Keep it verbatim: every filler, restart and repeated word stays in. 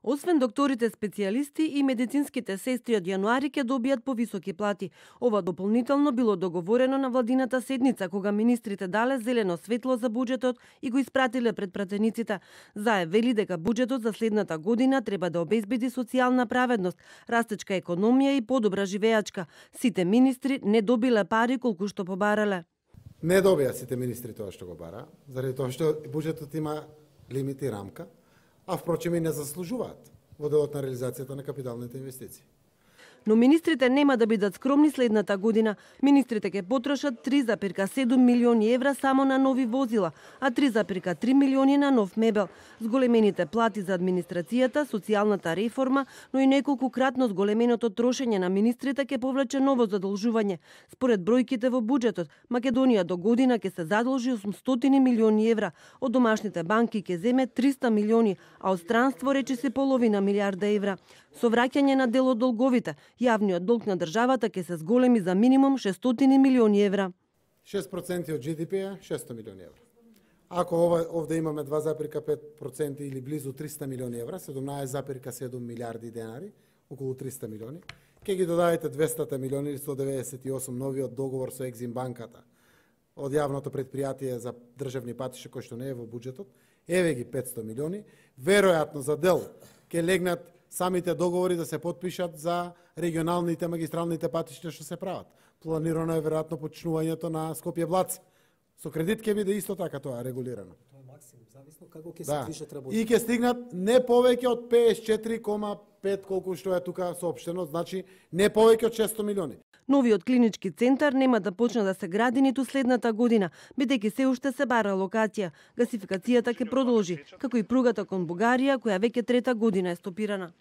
Освен докторите специјалисти и медицинските сестри од јануари ќе добијат повисоки плати. Ова дополнително било договорено на владината седница, кога министрите дале зелено светло за буџетот и го испратиле пред пратениците. Заe вели дека буџетот за следната година треба да обезбеди социјална праведност, растечка економија и подобра живеачка. Сите министри не добиле пари колку што побарале. Не добија сите министри тоа што го бара, заради тоа што буџетот има лимит и рамка, а впрочем и не заслужуваат во делот на реализацијата на капиталните инвестиции. Но министрите нема да бидат скромни следната година. Министрите ќе потрошат три зарез седум милиони евра само на нови возила, а три зарез три милиони на нов мебел. Зголемените плати за администрацијата, социјалната реформа, но и неколкукратно зголеменото трошење на министрите ќе повлече ново задолжување. Според бројките во буџетот, Македонија до година ќе се задолжи осумстотини милиони евра, од домашните банки ќе земе триста милиони, а од странство речиси половина милијарда евра. Со враќање на дел од долговите, јавниот долг на државата ќе се зголеми за минимум шестстотини милиони евра. шест проценти од Джи Ди Пи е шестстотини милиони евра. Ако ова, овде имаме два зарез пет проценти или близу триста милиони евра, седумнаесет зарез седум милијарди денари, околу триста милиони, ќе ги додадете двеста милиони или сто деветдесет и осум новиот договор со Екзим банката од јавното предпријатие за државни патишта кој што не е во буџетот, еве ги петстотини милиони, веројатно за дел ќе легнат самите договори да се потпишат за регионалните магистралните патишта што се прават. Планирано е веројатно почнувањето на Скопје-Блац. Со кредит ќе биде исто така тоа регулирано. Тоа е максимум, зависно како ќе се да. движат работи. И ќе стигнат не повеќе од педесет и четири кома пет колку што е тука соопштено, значи не повеќе од шестстотини милиони. Новиот клинички центар нема да почне да се гради ниту следната година, бидејќи се уште се бара локација. Гасификацијата ќе продолжи, како и пругата кон Бугарија, која веќе трета година е стопирана.